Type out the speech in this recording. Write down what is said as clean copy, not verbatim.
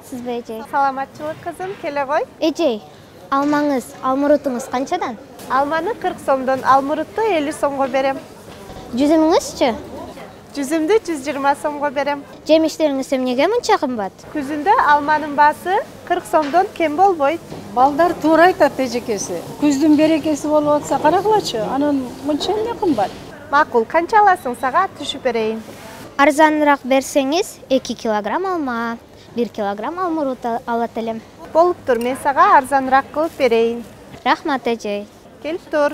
саламатсызбы эже? Саламатчылык кызым, келе кой. Эже, алмаңыз, алмурутуңуз канчадан? Алманы 40 сомдон, алмурутты 50 сомго берем. Жүзүмүңүзчү? Жүзүмдү 120 сомго берем. Жемиштериңиз эмнеге мынча кымбат? Күзүндө алманын баасы 40 сомдон кем болбойт. Балдар туура айтат эжекеси. Күздүн берекеси болуп атса карагылачы, анан мынча эмне кымбат? Макул, канча аласың, сага түшүп берейин. Арзаныраак берсеңиз 2 килограмм алма, 1 килограмм алмурут алат элем. Болуптур, мен сага арзаныраак кылып берейин. Рахмат эже. Келип тур.